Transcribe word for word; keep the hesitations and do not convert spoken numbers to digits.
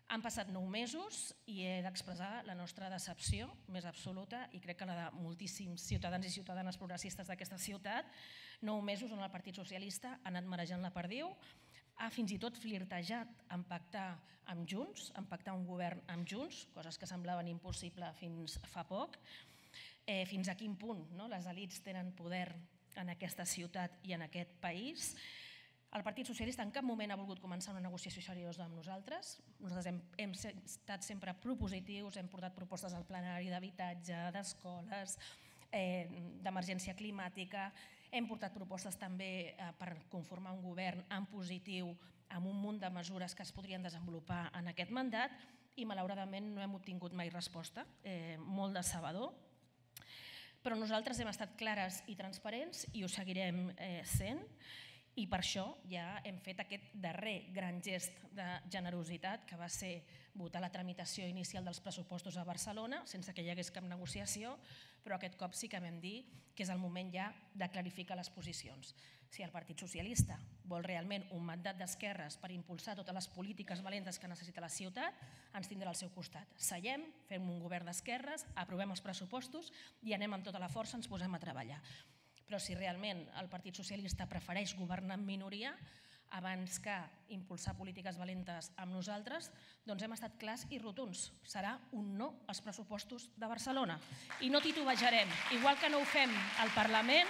Han passat nou mesos i he d'expressar la nostra decepció més absoluta i crec que la de moltíssims ciutadans i ciutadanes progressistes d'aquesta ciutat. Nou mesos on el Partit Socialista ha anat marejant la perdiu, ha fins i tot flirtejat en pactar amb Junts, en pactar un govern amb Junts, coses que semblaven impossibles fins fa poc. Fins a quin punt les elits tenen poder en aquesta ciutat i en aquest país. El Partit Socialista en cap moment ha volgut començar una negociació seriosa amb nosaltres. Nosaltres hem estat sempre propositius, hem portat propostes al plenari d'habitatge, d'escoles, d'emergència climàtica, hem portat propostes també per conformar un govern en positiu amb un munt de mesures que es podrien desenvolupar en aquest mandat i malauradament no hem obtingut mai resposta, molt decebedor. Però nosaltres hem estat clares i transparents i ho seguirem sent. I per això ja hem fet aquest darrer gran gest de generositat, que va ser votar la tramitació inicial dels pressupostos a Barcelona, sense que hi hagués cap negociació, però aquest cop sí que vam dir que és el moment ja de clarificar les posicions. Si el Partit Socialista vol realment un mandat d'esquerres per impulsar totes les polítiques valentes que necessita la ciutat, ens tindrà al seu costat. Seiem, fem un govern d'esquerres, aprovem els pressupostos i anem amb tota la força, ens posem a treballar. Però si realment el Partit Socialista prefereix governar en minoria abans que impulsar polítiques valentes amb nosaltres, doncs hem estat clars i rotunds. Serà un no als pressupostos de Barcelona. I no titubejarem. Igual que no ho fem al Parlament,